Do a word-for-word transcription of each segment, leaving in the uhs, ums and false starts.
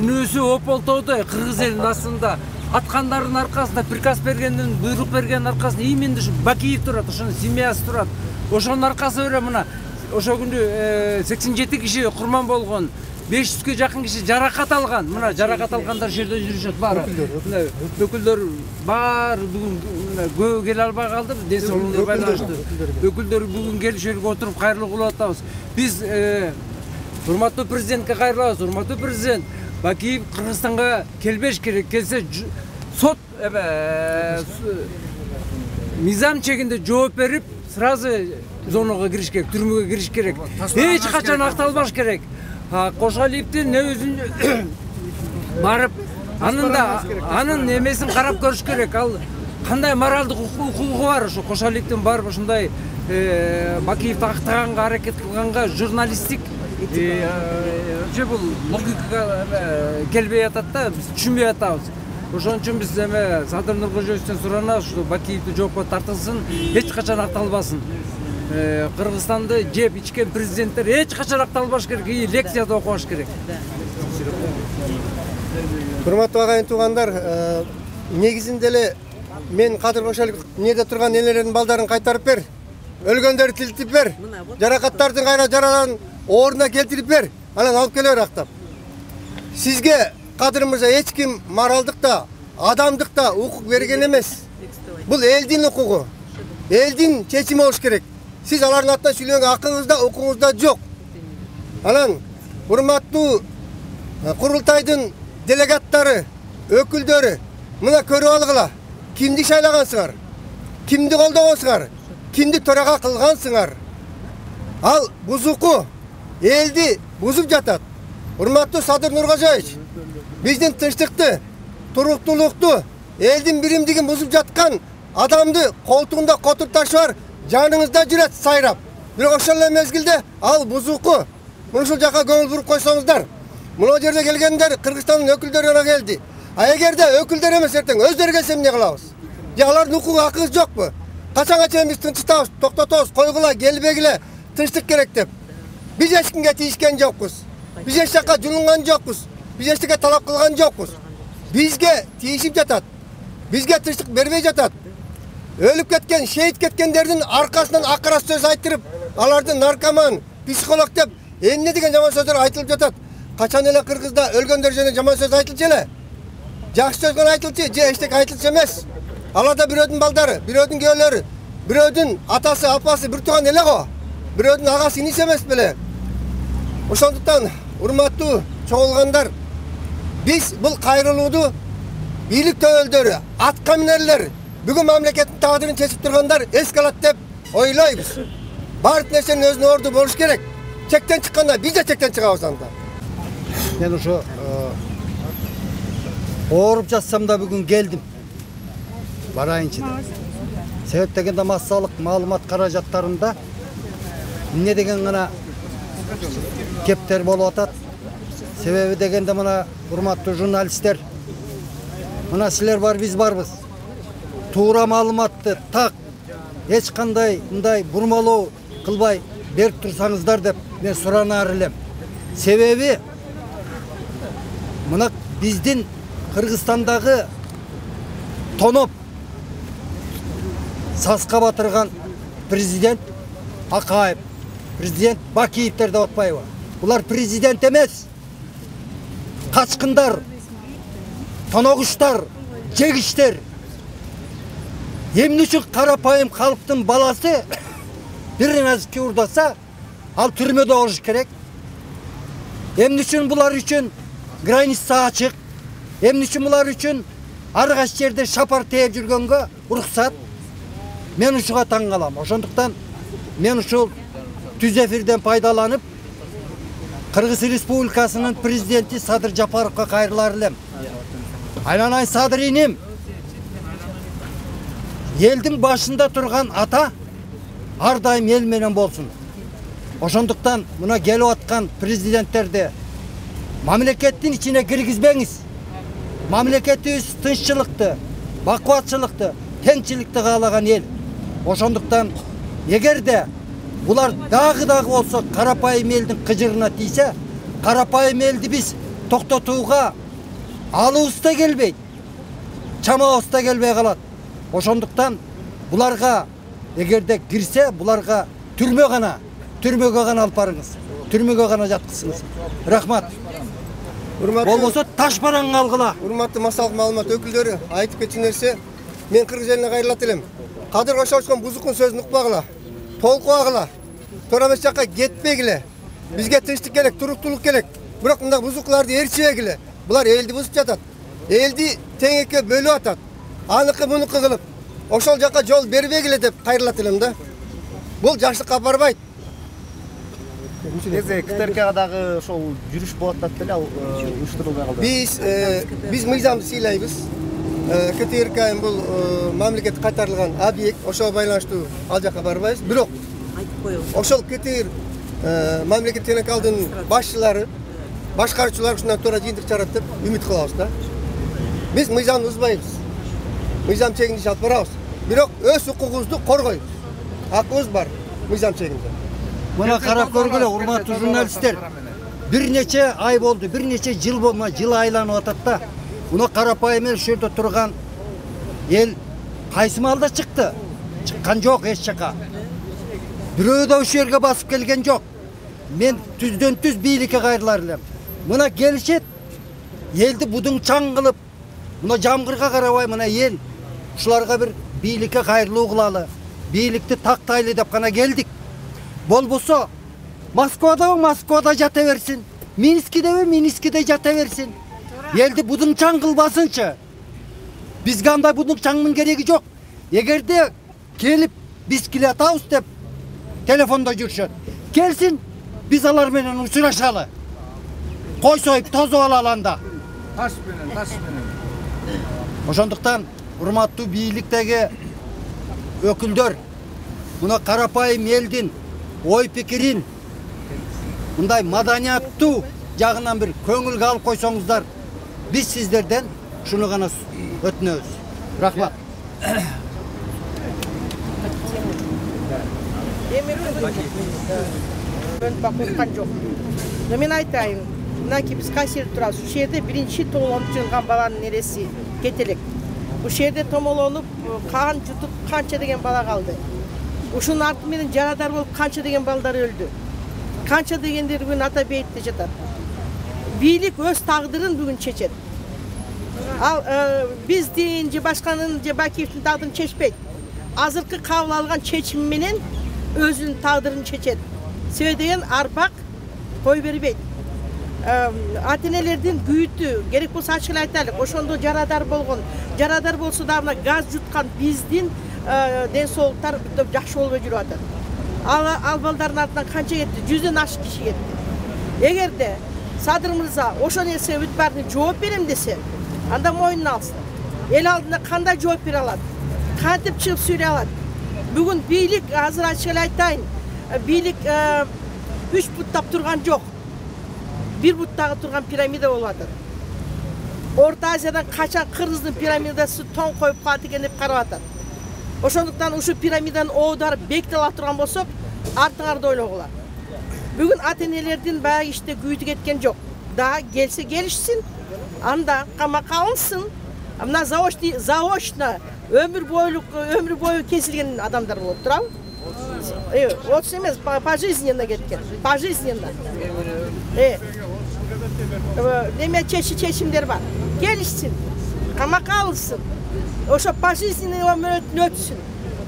күнөөсү ополтоодой кыргыз элинин астында аткандардын аркасында приказ бергенден буйрук бергендин аркасында именно ушу Бакиев турат, ошонун семьясы турат. Ошонун аркасы менен мына ошо күнү сексен жети киши курман болгон, беш жүзгө жакын киши жаракат алган. Мына жаракат алгандар ошол жерде жүрүшөт баары. Өкүлдөр баары бүгүн көбү келе албай калды, ден соолугуна байланыштуу. Өкүлдөр бүгүн келип жерге отуруп кайрылуу кылып атабыз. Биз урматтуу президентке кайрылабыз. Урматтуу президент, Бакиев Кыргызстанга келбеш керек. Келсе сот мыйзам чегинде жооп берип, сразу зонага кириш керек, түрмөгө кириш керек. Эч качан акталбаш керек. Кошалиевдин өзүн барып, анын да анын эмесин карап көрүш керек. Ал кандай моралдык укугу бар ошо Кошалиевдин барып ошондой Бакиевди актаганга аракет кылганга журналисттик же бул логикага келбей атат да, биз түшүнбөй атабыз. Ошон үчүн биз эме Садыр Нуркожоевден суранабыз, ушу Бакиевди жоопко тартылсын, эч качан акталбасын. Кыргызстанды жеп ичкен президенттер эч качан акталбаш керек, и лекцияда окубаш керек. Урматтуу агайын туугандар, негизинде эле мен Кадыр Кошалиев эмнеде турган энелердин балдарын кайтарып бер, өлгөндөрдү тилтип бер, жаракаттардын кайра жараларын ордуна келтирип бер, анан алып келе бер актап. Сизге Кадыр мырза эч ким моралдык да, адамдык да укук берген эмес. Бул элдин укугу, элдин чечими болуш керек. Сиз алардын атынан сүйлөгөнгө акыңыз да, укугуңуз да жок. Анан урматтуу курултайдын делегаттары, өкүлдөрү, мына көрүп алгыла. Кимди шайлагансыңар? Кимди колдогонсуңар? Кимди төрага кылгансыңар? Ал бузуку элди бузуп жатат. Урматтуу Садыр Нуркожоевич, биздин тынчтыкты, туруктуулукту, элдин биримдигин бузуп жаткан адамды колтугунда котуп ташы жаныңызда жүрөт сайрап. Бирок ошол эле мезгилде ал бузуку ушул жака көңүл буруп койсоңуздар, мына жерде келгендер Кыргызстандын өкүлдөрү гана келди. А эгерде өкүлдөр эмес эртең өздөрү келсе эмне кылабыз? Же алардын укугу акыбыз жокпу? Качанга чейин биз тынчтабыз, токтотобуз, койгула, келбегиле, тынчтык керек деп. Биз эч кимге тийишкен жокпуз. Биз эч жака жулунган жокпуз. Биз эчтеке талап кылган жокпуз. Бизге тийишип жатат. Бизге тынчтык бербей жатат. Өлүп кеткен, шейит кеткендердин аркасынан акыра сөз айтырып, аларды наркоман, психолог деп эмне деген жаман сөздөр айтылып жатат. Качан эле Кыргызда өлгөндөр жөнүндө жаман сөз айтылчу эле? Жакшы сөз гана айтылчу, же эчтеке айтылчу эмес. Аларда бирөөдүн балдары, бирөөдүн күйөөлөрү, бирөөдүн атасы, апасы бир тууган эле го. Бирөөдүн агасы, иниси эмес беле? Ошондуктан урматтуу чогулгандар, биз бул кайрылууду бийлик төбөлдөрү, атка минерлер, бүгүн мамлекеттин тагдырын чечип тургандар эске алат деп ойлойбуз. Баардык нерсенин өзүнүн орду болуш керек. Чектен чыкканда биз да чектен чыгабыз анда. Мен ошо ооруп жатсам да бүгүн келдим. Барайынчы деп. Себеп дегенде массалык маалымат каражаттарында эмне деген гана кептер болуп атат. Себеби дегенде мына урматтуу журналисттер, мына силер бар, биз барбыз. Туура маалыматты так эч кандай мындай бурмалоо кылбай берип турсаңыздар деп мен суранаар элем. Себеби мына биздин Кыргызстандагы тоноп саска батырган президент Акаев, президент Бакиевдер деп атпайбы? Булар президент эмес. Качкындар, тоногуштар, жегиштер. Эмне үчүн карапайым калктын баласы бир нерсе урдаса, ал түрмөдө болуш керек? Эмне үчүн булар үчүн граница ачык? Эмне үчүн булар үчүн ар кайсы жерде шапар тээп жүргөнгө уруксат? Мен ушуга таң калам. Ошондуктан мен ушул түз эфирден пайдаланып Кыргыз Республикасынын президенти Садыр Жапаровго кайрылар элем. Айланай Садыр иним, элдин башында турган ата ар дайым эл менен болсун. Ошондуктан мына келип аткан президенттерди мамлекеттин ичине киргизбеңиз. Мамлекетибиз тынччылыкты, бакубатчылыкты, теңчиликти каалаган эл. Ошондуктан эгерде булар дагы дагы болсо карапайым элдин кыжырына тийсе, карапайым элди биз токтотууга алыбыз да келбейт, чамабыз да келбей калат. Ошондуктан буларга эгерде кирсе, буларга түрмө гана, түрмөгө гана алып барыңыз. Түрмөгө гана жаткызыңыз. Рахмат. Болбосо таш бараңга алгыла. Урматтуу массалык маалымат өкүлдөрү, айтып кетчү нерсе, мен кыргыз элине кайрылат элем. Кадыр Кошаловдун бузукун сөзүн укпагыла. Толкубагыла. Туура эмес жакка кетпегиле. Бизге тынчтык керек, туруктуулук керек. Бирок мындай бузукларды ээрчибегиле. Булар элди бузуп жатат. Элди тең экке бөлүп атат. Аныкы мунуку кылып, ошол жакка жол бербегиле деп кайрылат элем да. Бул жаштыкка апарбайт. Эзе КТРКга дагы ошол жүрүш болот деп эле ал уюштурулбай калды. Биз биз мыйзамды сыйлайбыз. КТРК бул мамлекет кайтарылган объект, ошого байланыштуу ал жакка барбайбыз. Бирок ошол КТР мамлекет телекалдын башчылары, башкаруучулар ушундан туура жыйынтык чыгарат деп үмүт кылабыз да. Биз мыйзамды бузбайбыз. Мыйзам чегинде алып барабыз. Бирок өз укугубузду коргойбуз. Акыбыз бар мыйзам чегинде. Мына карап көргүлө, урматтуу журналисттер. Бир нече ай болду, бир нече жыл болма, жыл айланып атат да. Мына карапайым эл ушерде турган эл кайсы маалда чыкты? Чыккан жок эч жака. Бирөө да ушул жерге басып келген жок. Мен түздөн түз бийликке кайрылар элем. Мына келишет, элди будуң чаң кылып, мына жамгырга карабай мына эл ушуларга бир бийликке кайрылуу кылалы, бийликти тактайлы деп гана келдик. Болбосо Москвада Москвада жата берсин, Минскиде Минскиде жата берсин. Элди будуң чаң кылбасынчы. Бизге андай будуң чаңдын кереги жок. Эгерде келип биз килатабыз деп телефондо жүрүшөт. Келсин, биз алар менен учурашалы. Кой союп тозуп алалы анда. Таш менен, таш менен. Ошондуктан урматтуу бийликтеги өкүлдөр, мына карапайым элдин ой пикирин мындай маданияттуу жагынан бир көңүлгө алып койсоңуздар, биз сиздерден шуну гана өтүнөбүз. Рахмат. Корккан жок. Но мен айтайын, мынакей биз кайсы жерде турабыз? Ушул жерде биринчи томолонуп жыгылган баланын нереси кетелек. Ушул жерде томолонуп кан жутуп канча деген бала калды. Ушунун арты менен жарадар болуп канча деген балдар өлдү. Канча дегендер бүгүн ата бейитте жатат. Бийлик өз тагдырын бүгүн чечет. Ал биз дейин же башканын же Бакиевдин тагдырын чечпейт. Азыркы кабыл алган чечим менен өзүнүн тагдырын чечет. Себеби деген арбак кой бербейт. Ата-энелердин күйүтү керек болсо ачык эле айтайлык. Ошондо жарадар болгон, жарадар болсо да мына газ жуткан биздин ден соолуктар жакшы болбой жүрүп атат. Ал ал балдардын артынан канча кетти? жүздөн ашык киши кетти. Эгерде Садыр мырза ошол нерсе бүт баарын жооп берем десе, анда мойнуна алсын. Эл алдында кандай жооп бере алат? Кантип чыгып сүйлөй алат? Бүгүн бийлик, азыр ачык эле айтайын, бийлик үч буттап турган жок. Бир буттагы турган пирамида болуп атат. Орто Азиядан качан кыргыздын пирамидасы тоң коюп калат экен деп карап атат. Ошондуктан ушул пирамиданын оодары бекитип ала турган болсок, артыңарды ойлогула. Бүгүн ата-энелердин баягы иште күйүтү кеткен жок. Да келсе келишсин, анда камакка алынсын. Мына заочный, заочно өмүр бойлук, өмүр бою кесилген адамдар болуп турабы? Э, отуз эмес, пожизненно кеткен. Пожизненно. Э. Неме чечи чечимдер бар. Келишсин, камакка алынсын. Ошо пожизненный өмүрөтүн өтсүн.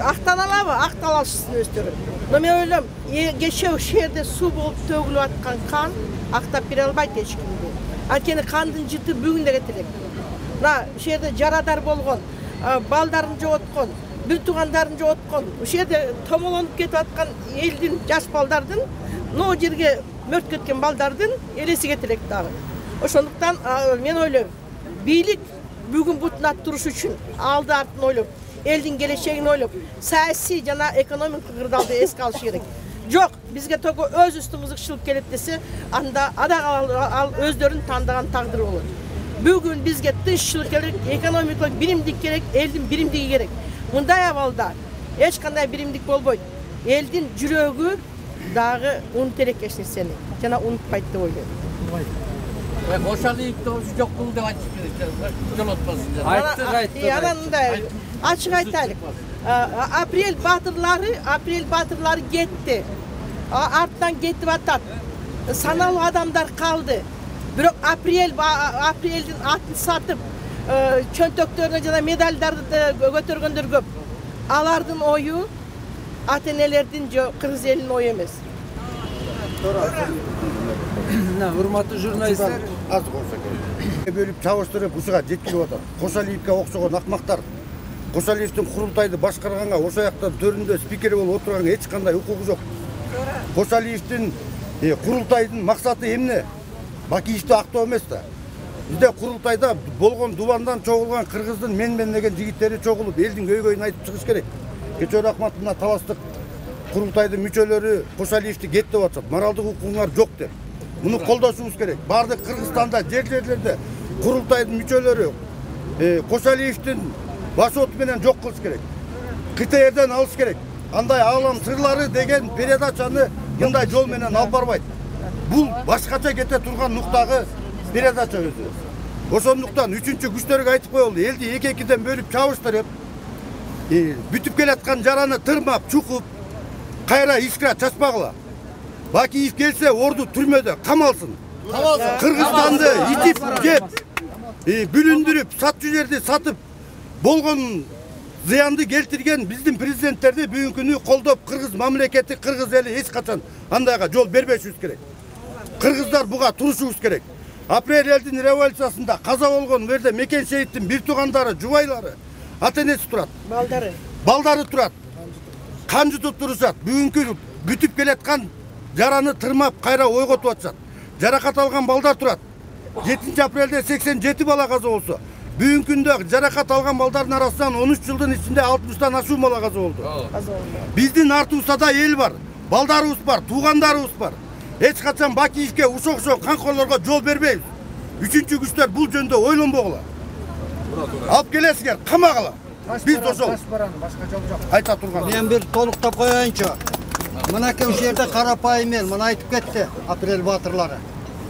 Актаналабы? Акталышсын өздөрү. Но мен ойлойм, кечээ ушул жерде суу болуп төгүлүп аткан кан актап бере албайт эч кимди. Анткени кандын жыты бүгүн да кетелек. Мына ушул жерде жарадар болгон, балдарын жоготкон, бир туугандарын жоготкон, ушул жерде томолонуп кетип аткан элдин жаш балдардын, но жерге мөрт кеткен балдардын элеси кетелек дагы. Ошондуктан мен ойлойм, бийлик бүгүн бутуна туруш үчүн алды артын ойлоп, элдин келечегин ойлоп, саясий жана экономикалык кырдаалды эске алыш керек. Жок, бизге только өз үстүбүз ыкшылып келет десе, анда ада ал өздөрүн тандаган тагдыр болот. Бүгүн бизге тынччылык керек, экономикалык биримдик керек, элдин биримдиги керек. Мындай абалда эч кандай биримдик болбойт. Элдин жүрөгү дагы унут элек эч нерсени, жана унутпайт деп ойлойм. Кошалиевдин ошо жок болду деп айтышып берет. Жолотпосун. Айттык, айттык. Анан мындай ачык айтайлык. Апрель батырлары, апрель батырлары кетти. Арттан кетип атат. Саналуу адамдар калды. Бирок апрель апрелдин атын сатып, чөнтөктөрүнө жана медалдарды көтөргөндөр көп. Алардын ою ата энелердин же кыргыз элинин ою эмес. Урматтуу журналисттер, аз болсо керек. Бөлүп чабыштырып ушуга жеткирип атат. Кошалиевге окшогон акмактар Кошалиевдин курултайды башкарганга, ошол жактан төрүндө спикер болуп отурганга эч кандай укугу жок. Кошалиевдин курултайдын максаты эмне? Бакиевди актоо эмес да. Бизде курултайда болгон дубандан чогулган кыргыздын мен-мен деген жигиттери чогулуп, элдин көйгөйүн айтып чыгыш керек. Кечээ Рахмат мына таластык курултайдын мүчөлөрү Кошалиевди кет деп атат. Моралдык укугуңар жок деп. Муну колдошубуз керек. Бардык Кыргызстанда жер-жерлерде курултайдын мүчөлөрү Кошалиевдин баш оту менен жок кылыш керек. КТРден алыш керек. Андай аалам сырлары деген передачаны мындай жол менен алып барбайт. Бул башкача кете турган нуктагы передача өзү. Ошондуктан үчүнчү күчтөргө айтып коелу, элди эки-экиден бөлүп чабыштырып, бүтүп келаткан жараны тырмап, чукуп, кайра искра чачпагыла. Бакиев келсе, орду түрмөдө камалсын. Кыргызстанды итип жеп, бүлүндүрүп, сатчу жерди сатып болгон зыянды келтирген биздин президенттерди бүгүнкү күнү колдоп, кыргыз мамлекети, кыргыз эли эч качан андайга жол бербешибиз керек. Кыргыздар буга турушубуз керек. Апрель элдин революциясында каза болгон жерде Мекен шейиттин бир туугандары, жубайлары, ата энеси турат. Балдары. Балдары турат. Кан жутуп турушат. Бүгүнкү бүтүп келаткан жараны тырмап кайра ойготуп атышат. Жаракат алган балдар турат. жетинчи апрелде сексен жети бала каза болсо, бүгүнкү күндө жаракат алган балдардын арасынан он үч жылдын ичинде алтымыштан ашуун бала каза болду. Биздин артыбызда да эл бар, балдарыбыз бар, туугандарыбыз бар. Эч качан Бакиевге ушок ошол канкорлорго жол бербейбиз. Үчүнчү күчтөр бул жөндө ойлонбогула. Алып келесиңер, камагыла. Биз ошол айта турган. Мен бир толуктап коеюнчу. Мынакей ушул жерде карапайым эл мына айтып кетти апрель батырлары.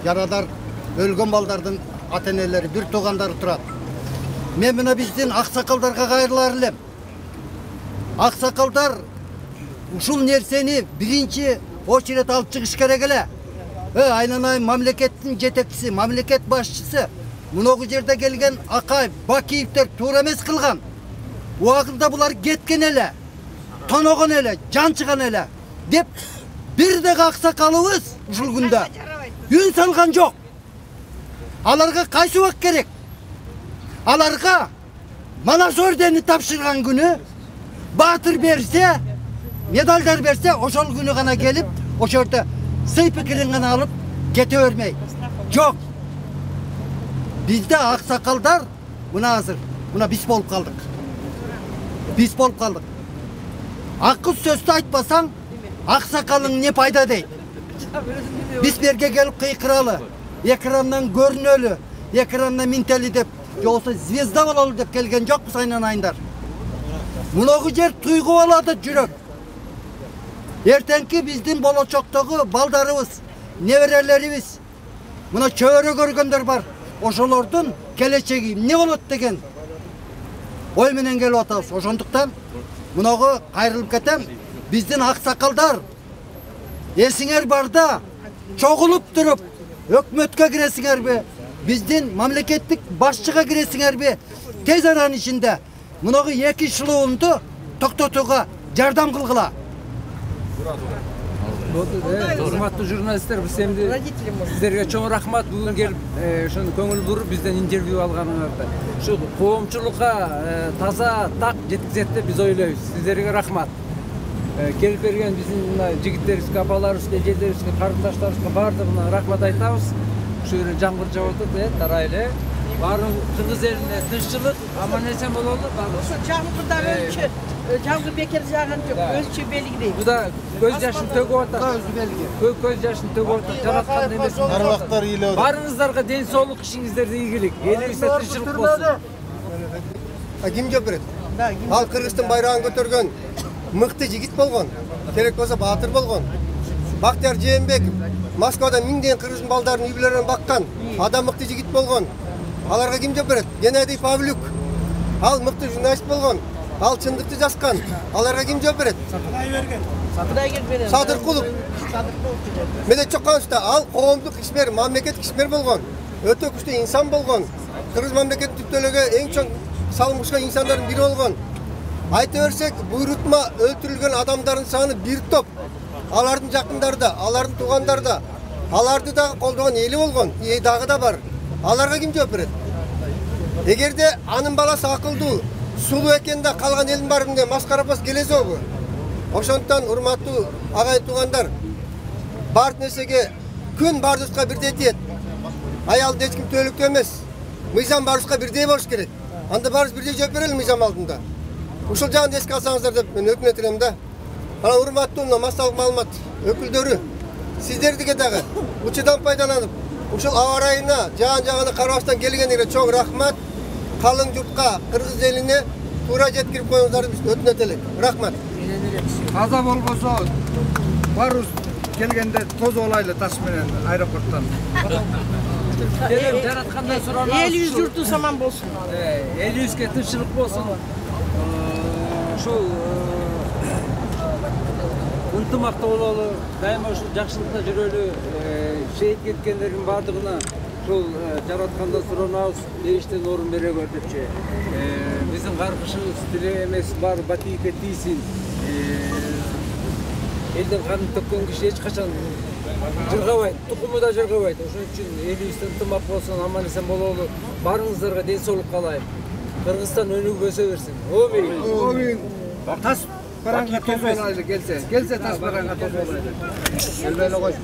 Жарадар өлгөн балдардын ата энелери, бир туугандары турат. Мен мына биздин аксакалдарга кайрылар элем. Аксакалдар ушул нерсени биринчи очеред алып чыгыш керек эле. Э, айнанайын мамлекеттин жетекчиси, мамлекет башчысы муногу жерде келген Акаев, Бакиевдер туура эмес кылган. Убагында булар кеткен эле, тоногон эле, жанчыган эле деп бир дагы аксакалыбыз ушул күндө үн салган жок. Аларга кайсы убак керек? Аларга Манас ордени тапшырган күнү баатыр берсе, медалдар берсе, ошол күнү гана келип, ошол жерде сый пикирин гана алып кете бермей. Жок. Бизде аксакалдар мына азыр, мына биз болуп калдык. Биз болуп калдык. Акыл сөздү айтпасаң, аксакалың не пайда дейт. Биз берге келип кыйкыралы, экрандан көрүнөлү, экрандан минтели деп, жоксо звезда бололу деп келген жокпуз айнанайындар. Муногу жер туйгуп алады жүрөк. Эртеңки биздин болочоктогу балдарыбыз, неберелерибиз, мына чөбөрө көргөндөр бар. Ошолордун келечеги эмне болот деген ой менен келип атабыз. Ошондуктан муногу кайрылып кетем. Биздин аксакалдар эсиңер барда чогулуп туруп өкмөткө киресиңерби, биздин мамлекеттик башчыга киресиңерби, тез аранын ичинде муногу эки шылуунду токтотууга жардам кылгыла. Урматтуу журналисттер, биз эмди сиздерге чоң рахмат бүгүн келип ошону көңүл буруп бизден интервью алганыңарда. Ушу коомчулукка таза так жеткизет деп биз ойлойбуз. Сиздерге рахмат. Келип берген биздин жигиттерибизге, апаларыбызга, эжелерибизге, карындаштарыбызга баардыгына рахмат айтабыз. Ушу жерде жамгыр жауып атат, э, тарай эле. Баарын кыргыз элине тынччылык, аман эсен бололу. Ошо жамгырда өлчү, жамгыр бекер жааган жок, өзчө белгилейт. Бу да көз жашын төгүп атат. Көз жашын төгүп атат. Жараткан эмес. Арбактар ыйлап атат. Баарыңыздарга ден соолук, ишиңиздерде ийгилик. Элибизде тынччылык болсун. А ким жооп берет? Ал Кыргыздын байрагын көтөргөн мыкты жигит болгон, керек болсо баатыр болгон. Бактияр Жээнбеков Москвада миңдеген кыргыздын балдарын үй-бүлөлөрүн баккан, адам мыкты жигит болгон. Аларга ким жооп берет? Геннадий Павлюк. Ал мыкты журналист болгон. Ал чындыкты жазган. Аларга ким жооп берет? Кудайберген. Садыркулов. Медет Чоканович да ал коомдук ишмер, мамлекеттик ишмер болгон. Өтө күчтүү инсан болгон. Кыргыз мамлекеттик түптөлөгө эң чоң салым кошкон инсандардын бири болгон. Айта берсек, буйрутма өлтүрүлгөн адамдардын саны бир топ. Алардын жакындары да, алардын туугандары да, аларды да колдогон эли болгон, и дагы да бар. Аларга ким жооп берет? Эгерде анын баласы акылдуу, сулуу экен да калган элдин баарында маскарапас келезобу? Ошондуктан урматтуу агай туугандар, бар нерсеге күн бардыбызга бирдей тиет. Аялды эч ким төөлүктүү эмес. Мыйзам баарыбызга бирдей болуш керек. Анда баарыбыз бирдей жооп берели мыйзам алдында. Ушул жагын эске алсаңыздар деп мен өкмөт элем да. Анан урматтуу мына массалык маалымат өкүлдөрү, сиздердиге дагы учурдан пайдаланып, ушул аба ырайына жаан-жагына карабастан келгениңерге чоң рахмат. Калың журтка, кыргыз элине туура жеткирип коюңуздарды биз өтүнөт элек. Рахмат. Каза болбосо барыбыз келгенде тозуп алайлы таш менен аэропорттон. Делем жараткандан суранабыз. Элибиз журту саман болсун. Элибизге тынччылык болсун. Ушул ынтымакта бололу, дайыма ушул жакшылыкта жүрөлү. Шейит кеткендердин баардыгына ушул жараткандан суранабыз, эриштен орун бере көр депчи. Биздин каргышыбыз тиле эмес, баары батийикке тийсин. Элдин канын төккөн киши эч качан жыргабайт, тукуму да жыргабайт. Ошон үчүн элибизде ынтымак болсун, аман эсен бололу. Баарыңыздарга ден соолук каалайм. Кыргызстан өнүгүп өсө берсин. Обин. Обин. Таш бараңга тозуп алайлы келсе. Келсе таш бараңга тозуп алайлы. Келбей эле койсун.